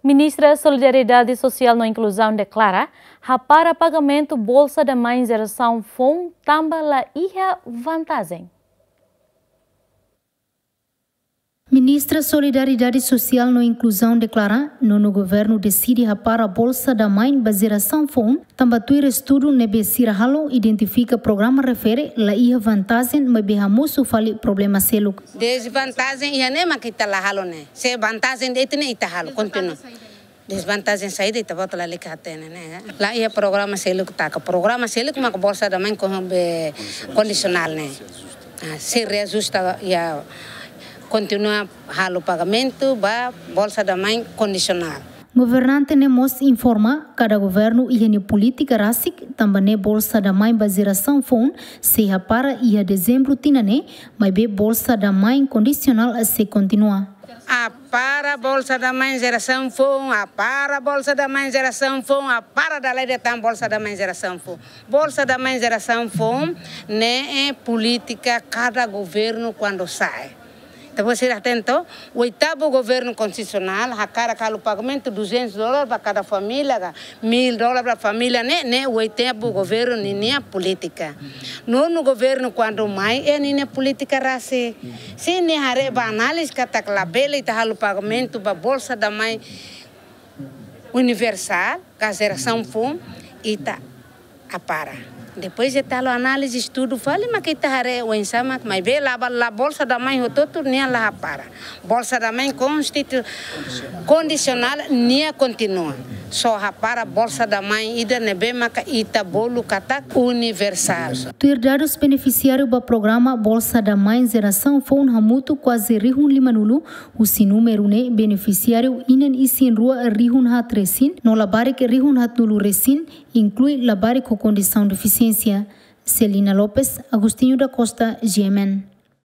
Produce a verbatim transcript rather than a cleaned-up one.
Ministra Solidariedade Sosiál no Inkluzaun deklara hapara pagamentu Bolsa da Mãe jerasaun foun tanba la iha vantajen. Ministra Solidariedade Sosiál no Inkluzaun deklara, nonu governu deside hapara Bolsa da Mãe ba jerasaun foun, tanba tuir estudu ne'ebé sira halo identifika programa refere la iha vantajen maibé hamosu fali problema seluk. Dezvantajen iha ne'e mak ita la halo ne'e. Se vantajen de'it ne'e ita halo, kontinua. Dezvantajen saida ita-boot lalika hatene ne'e. La iha programa seluk taka. Programa seluk mak Bolsa da Mãe kon-, be, kondisionál ne'e. Ah, se reajusta, ya, kontinua halo pagamentu ba Bolsa da Mãe kondisionál. Governante ne'e mós informa, kada governu iha nia polítika rasik, tanba ne'e Bolsa da Mãe ba jerasaun foun sei hapara iha dezembru tinan ne'e, maibé Bolsa da Mãe kondisionál sei kontinua. Hapara Bolsa da Mãe jerasaun foun, hapara Bolsa da Mãe jerasaun foun, hapara dala ida tan Bolsa da Mãe jerasaun foun. Bolsa da Mãe jerasaun foun ne'e polítika kada governu kuandu sa'e. Entaun, sira hatene, oitavu governu konstitusionál hakarak halo pagamentu duzentos dólar ba kada família, ka mil dólar ba família ne'e, ne'e oitavu governu ninia polítika. Nonu governu kuandu mai, iha ninia polítika rasik. Se nia haree ba análize katak labele ita halo pagamentu ba Bolsa da Mãe universál, ka jerasaun foun, ita hapara. Depois ita halo análize, estudu fali mak ita haree oinsá mak, maibé la ba, la Bolsa da Mãe hotu-hotu nia la hapara. Bolsa da Mãe konstitu-, kondisionál nia kontinua. Só hapara Bolsa da Mãe ida ne'ebé maka ita bolu katak universál. Tuir dadus benefisiáriu ba programa Bolsa da Mãe jerasaun foun hamutuk kuaze rihun limanulu, husi númeru ne'e benefisiáriu inan isin rua rihun haat resin, no labarik rihun haatnulu resin, inklui labarik ho kondisaun defisiénsia. Celina Lopes, Agostinho da Costa, G M N.